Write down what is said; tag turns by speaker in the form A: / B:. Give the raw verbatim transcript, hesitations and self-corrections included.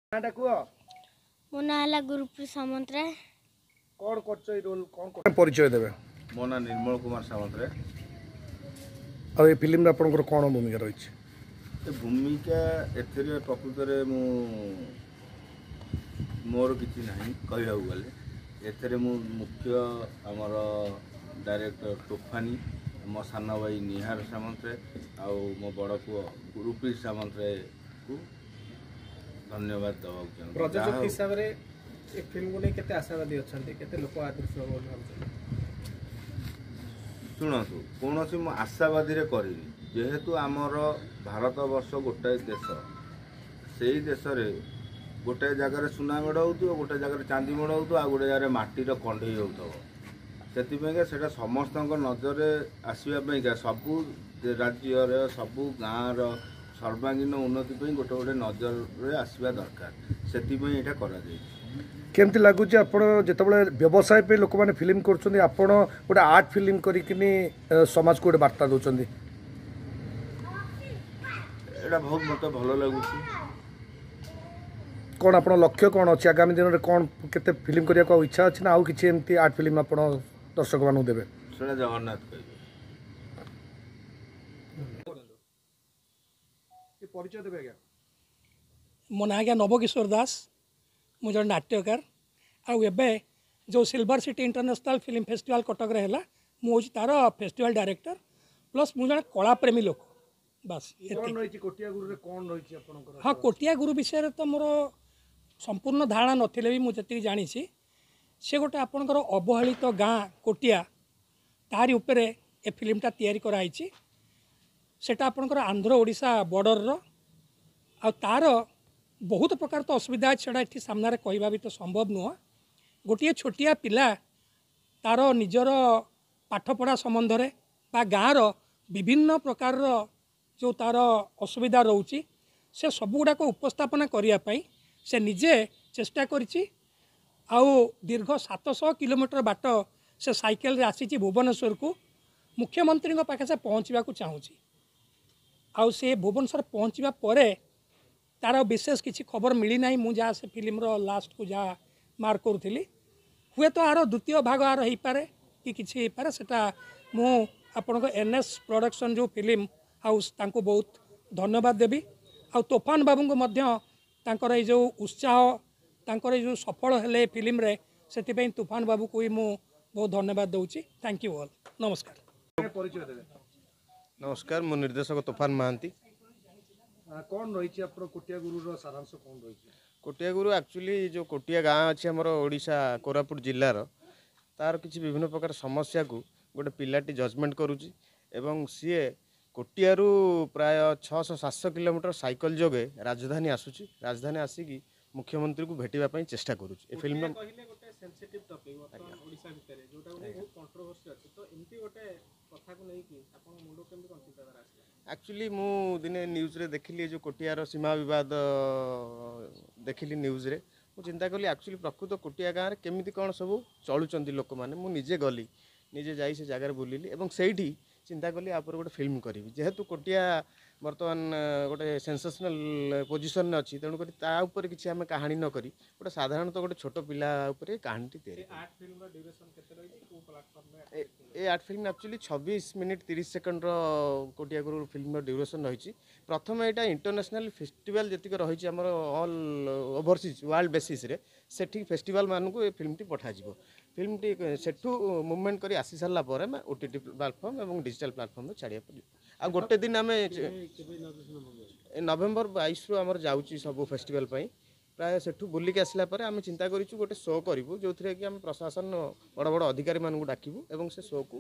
A: ନାଁଟା କୁହ।
B: ମୋ ନାଁ ହେଲା ଗୁରୁପ୍ରିୟ ସାମନ୍ତରାୟ।
A: କ'ଣ କରୁଛ ଏଇ ରୋଲ୍ କ'ଣ କର ପରିଚୟ ଦେବେ?
C: ମୋ ନାଁ ନିର୍ମଳ କୁମାର ସାମନ୍ତରାୟ।
A: ଆଉ ଏ ଫିଲ୍ମରେ ଆପଣଙ୍କର କ'ଣ ଭୂମିକା ରହିଛି?
C: ଏ ଭୂମିକା ଏଥିରେ ପ୍ରକୃତରେ ମୁଁ ମୋର କିଛି ନାହିଁ କହିବାକୁ ଗଲେ। ଏଥିରେ ମୁଁ ମୁଖ୍ୟ ଆମର ଡାଇରେକ୍ଟର ତୋଫାନି, ମୋ ସାନ ଭାଇ ନିହାର ସାମନ୍ତରାୟ ଆଉ ମୋ ବଡ଼ ପୁଅ ଗୁରୁପ୍ରୀତ ସାମନ୍ତରାୟକୁ ଧନ୍ୟବାଦ ଦେବାକୁ ଚାହୁଁଛି।
D: ପ୍ରଯୋଜକ
C: ଯାହା ହଉ,
D: ହିସାବରେ ଏ ଫିଲ୍ମକୁ ନେଇ କେତେ ଆଶାବାଦୀ ଅଛନ୍ତି, କେତେ ଲୋକ ଆଦୃତ ହେବ ବୋଲି ଭାବୁଛନ୍ତି?
C: ଶୁଣନ୍ତୁ, କୌଣସି ମୁଁ ଆଶାବାଦୀରେ କରିନି। ଯେହେତୁ ଆମର ଭାରତବର୍ଷ ଗୋଟାଏ ଦେଶ, ସେଇ ଦେଶରେ ଗୋଟାଏ ଜାଗାରେ ସୁନା ମେଢ଼ ହେଉଥିବ, ଗୋଟେ ଜାଗାରେ ଚାନ୍ଦି ମେଢ଼ ହେଉଥିବ, ଆଉ ଗୋଟେ ଜାଗାରେ ମାଟିର କଣ୍ଢେଇ ହେଉଥିବ। ସେଥିପାଇଁକା ସେଇଟା ସମସ୍ତଙ୍କ ନଜରରେ ଆସିବା ପାଇଁକା, ସବୁ ରାଜ୍ୟର ସବୁ ଗାଁର ସର୍ବାଙ୍ଗୀନ ଉନ୍ନତି ପାଇଁ ଗୋଟେ ଗୋଟେ ନଜରରେ ଆସିବା ଦରକାର, ସେଥିପାଇଁ ଏଇଟା କରାଯାଇଛି।
A: କେମିତି ଲାଗୁଛି ଆପଣ ଯେତେବେଳେ ବ୍ୟବସାୟ ପାଇଁ ଲୋକମାନେ ଫିଲ୍ମ କରୁଛନ୍ତି, ଆପଣ ଗୋଟେ ଆର୍ଟ ଫିଲ୍ମ କରିକିନି ଏ, ସମାଜକୁ ଗୋଟେ ବାର୍ତ୍ତା ଦେଉଛନ୍ତି?
C: ଏଇଟା ବହୁତ ମୋତେ ଭଲ ଲାଗୁଛି।
A: କ'ଣ ଆପଣ ଲକ୍ଷ୍ୟ କ'ଣ ଅଛି ଆଗାମୀ ଦିନରେ? କ'ଣ କେତେ ଫିଲ୍ମ କରିବାକୁ ଆଉ ଇଚ୍ଛା ଅଛି ନା ଆଉ କିଛି ଏମିତି ଆର୍ଟ ଫିଲ୍ମ ଆପଣ ଦର୍ଶକମାନଙ୍କୁ ଦେବେ?
C: ସେଇଟା ଜଗନ୍ନାଥ କହିବେ।
A: ପରିଚୟ ଦେବେ ଆଜ୍ଞା।
E: ମୋ ନାଁ ଆଜ୍ଞା ନବକିଶୋର ଦାସ, ମୁଁ ଜଣେ ନାଟ୍ୟକାର। ଆଉ ଏବେ ଯେଉଁ silver city international film festival କଟକରେ ହେଲା, ମୁଁ ହେଉଛି ତା'ର ଫେଷ୍ଟିଭାଲ ଡାଇରେକ୍ଟର, ପ୍ଲସ୍ ମୁଁ ଜଣେ କଳାପ୍ରେମୀ ଲୋକ। ବାସ୍
A: କ'ଣ
E: ଏତିକି।
A: ରହିଛି କୋଟିଆ ଗୁରୁରେ, କ'ଣ ରହିଛି ଆପଣଙ୍କର?
E: ହଁ, କୋଟିଆ ଗୁରୁ ବିଷୟରେ ତ ମୋର ସମ୍ପୂର୍ଣ୍ଣ ଧାରଣା ନଥିଲେ ବି ମୁଁ ଯେତିକି ଜାଣିଛି, ସେ ଗୋଟେ ଆପଣଙ୍କର ଅବହେଳିତ ଗାଁ କୋଟିଆ, ତାରି ଉପରେ ଏ ଫିଲ୍ମଟା ତିଆରି କରାହେଇଛି। ସେଟା ଆପଣଙ୍କର ଆନ୍ଧ୍ର ଓଡ଼ିଶା ବର୍ଡ଼ରର, ଆଉ ତା'ର ବହୁତ ପ୍ରକାର ତ ଅସୁବିଧା ଅଛି, ସେଟା ଏଠି ସାମ୍ନାରେ କହିବା ବି ତ ସମ୍ଭବ ନୁହଁ। ଗୋଟିଏ ଛୋଟିଆ ପିଲା ତା'ର ନିଜର ପାଠପଢ଼ା ସମ୍ବନ୍ଧରେ ବା ଗାଁର ବିଭିନ୍ନ ପ୍ରକାରର ଯେଉଁ ତା'ର ଅସୁବିଧା ରହୁଛି, ସେ ସବୁଗୁଡ଼ାକ ଉପସ୍ଥାପନା କରିବା ପାଇଁ ସେ ନିଜେ ଚେଷ୍ଟା କରିଛି। ଆଉ ଦୀର୍ଘ ସାତଶହ କିଲୋମିଟର ବାଟ ସେ ସାଇକେଲରେ ଆସିଛି ଭୁବନେଶ୍ୱରକୁ, ମୁଖ୍ୟମନ୍ତ୍ରୀଙ୍କ ପାଖେ ସେ ପହଞ୍ଚିବାକୁ ଚାହୁଁଛି। ଆଉ ସେ ଭୁବନେଶ୍ୱର ପହଞ୍ଚିବା ପରେ ତା'ର ବିଶେଷ କିଛି ଖବର ମିଳିନାହିଁ। ମୁଁ ଯାହା ସେ ଫିଲ୍ମର ଲାଷ୍ଟକୁ ଯାହା ମାର୍କ କରୁଥିଲି, ହୁଏତ ଆର ଦ୍ୱିତୀୟ ଭାଗ ଆର ହେଇପାରେ କି କିଛି ହେଇପାରେ। ସେଟା ମୁଁ ଆପଣଙ୍କ ଏନ୍ ଏସ୍ ପ୍ରଡକ୍ସନ୍ ଯେଉଁ ଫିଲ୍ମ ହାଉସ୍, ତାଙ୍କୁ ବହୁତ ଧନ୍ୟବାଦ ଦେବି। ଆଉ ତୋଫାନ ବାବୁଙ୍କୁ ମଧ୍ୟ, ତାଙ୍କର ଏଇ ଯେଉଁ ଉତ୍ସାହ, ତାଙ୍କର ଏଇ ଯେଉଁ ସଫଳ ହେଲେ ଏ ଫିଲ୍ମରେ, ସେଥିପାଇଁ ତୁଫାନ ବାବୁକୁ ବି ମୁଁ ବହୁତ ଧନ୍ୟବାଦ ଦେଉଛି। Thank you all, ନମସ୍କାର।
A: ପରିଚୟ ଦେବେ।
F: ନମସ୍କାର, ମୁଁ ନିର୍ଦ୍ଦେଶକ ତୋଫାନ ମହାନ୍ତି।
A: ଆ, କ'ଣ ରହିଛି ଆପଣ କୋଟିଆ ଗୁରୁର ସାରାଂଶ କ'ଣ ରହିଛି?
F: କୋଟିଆ ଗୁରୁ ଆକ୍ଚୁଆଲି ଯେଉଁ କୋଟିଆ ଗାଁ ଅଛି ଆମର ଓଡ଼ିଶା କୋରାପୁଟ ଜିଲ୍ଲାର, ତାର କିଛି ବିଭିନ୍ନ ପ୍ରକାର ସମସ୍ୟାକୁ ଗୋଟେ ପିଲାଟି ଜଜମେଣ୍ଟ କରୁଛି ଏବଂ ସିଏ କୋଟିଆରୁ ପ୍ରାୟ ଛଅଶହ ସାତଶହ କିଲୋମିଟର ସାଇକେଲ ଯୋଗେ ରାଜଧାନୀ ଆସୁଛି। ରାଜଧାନୀ ଆସିକି ମୁଖ୍ୟମନ୍ତ୍ରୀଙ୍କୁ ଭେଟିବା ପାଇଁ ଚେଷ୍ଟା କରୁଛି। ଏ ଫିଲ୍ମର
D: କହିଲେ ଗୋଟେ ସେନ୍ସିଟିଭ୍ ଟପିକ୍ ବର୍ତ୍ତମାନ ଓଡ଼ିଶା ଭିତରେ, ଯୋଉଟାକୁ ନେଇ ବହୁତ କଣ୍ଟ୍ରୋଭର୍ସି ଅଛି, ତ ଏମିତି ଗୋଟେ କଥାକୁ ନେଇକି ଆପଣଙ୍କ ମୁଣ୍ଡକୁ କେମିତି କ'ଣ ଚିନ୍ତାଧାରା ଆସିଲା?
F: ଆକ୍ଚୁଆଲି ମୁଁ ଦିନେ ନ୍ୟୁଜ୍ରେ ଦେଖିଲି, ଏ ଯେଉଁ କୋଟିଆର ସୀମା ବିବାଦ ଦେଖିଲି ନ୍ୟୁଜ୍ରେ। ମୁଁ ଚିନ୍ତା କଲି ଆକ୍ଚୁଆଲି ପ୍ରକୃତ କୋଟିଆ ଗାଁରେ କେମିତି କ'ଣ ସବୁ ଚଳୁଛନ୍ତି ଲୋକମାନେ। ମୁଁ ନିଜେ ଗଲି, ନିଜେ ଯାଇ ସେ ଜାଗାରେ ବୁଲିଲି ଏବଂ ସେଇଠି ଚିନ୍ତା କଲି ୟା ଉପରେ ଗୋଟେ ଫିଲ୍ମ କରିବି। ଯେହେତୁ କୋଟିଆ ବର୍ତ୍ତମାନ ଗୋଟେ ସେନ୍ସେସନାଲ୍ ପୋଜିସନ୍ରେ ଅଛି, ତେଣୁକରି ତା ଉପରେ କିଛି ଆମେ କାହାଣୀ ନ କରି ଗୋଟେ ସାଧାରଣତଃ ଗୋଟେ ଛୋଟ ପିଲା ଉପରେ କାହାଣୀଟି ତିଆରି
D: ଏ ଆର୍ଟ ଫିଲ୍ମର ଡ୍ୟୁରେସନ୍ କେତେ ରହିଛି, କେଉଁ ପ୍ଲାଟଫର୍ମରେ?
F: ଏ ଆର୍ଟ ଫିଲ୍ମ ଆକ୍ଚୁଆଲି ଛବିଶ ମିନିଟ୍ ତିରିଶ ସେକେଣ୍ଡର କୋଟିଆ ଗୁରୁ ଫିଲ୍ମର ଡ୍ୟୁରେସନ୍ ରହିଛି। ପ୍ରଥମେ ଏଇଟା ଇଣ୍ଟରନ୍ୟାସନାଲ୍ ଫେଷ୍ଟିଭାଲ୍ ଯେତିକି ରହିଛି ଆମର ଅଲ୍ ଓଭରସିଜ୍ ୱାର୍ଲଡ ବେସିସ୍ରେ, ସେଠି ଫେଷ୍ଟିଭାଲ୍ମାନଙ୍କୁ ଏ ଫିଲ୍ମଟି ପଠାଯିବ। ଫିଲ୍ମଟି ସେଠୁ ମୁଭମେଣ୍ଟ କରି ଆସି ସାରିଲା ପରେ ଆମେ ଓ ଟି ଟି ପ୍ଲାଟଫର୍ମ ଏବଂ ଡିଜିଟାଲ୍ ପ୍ଲାଟଫର୍ମରେ ଛାଡ଼ିବାକୁ ପଡ଼ିବ। ଆଉ ଗୋଟେ ଦିନ ଆମେ ଏ ନଭେମ୍ବର ବାଇଶରୁ ଆମର ଯାଉଛି ସବୁ ଫେଷ୍ଟିଭାଲ୍ ପାଇଁ। ପ୍ରାୟ ସେଠୁ ବୁଲିକି ଆସିଲା ପରେ ଆମେ ଚିନ୍ତା କରିଛୁ ଗୋଟେ ଶୋ କରିବୁ, ଯେଉଁଥିରେ କି ଆମେ ପ୍ରଶାସନ ବଡ଼ ବଡ଼ ଅଧିକାରୀମାନଙ୍କୁ ଡାକିବୁ ଏବଂ ସେ ଶୋକୁ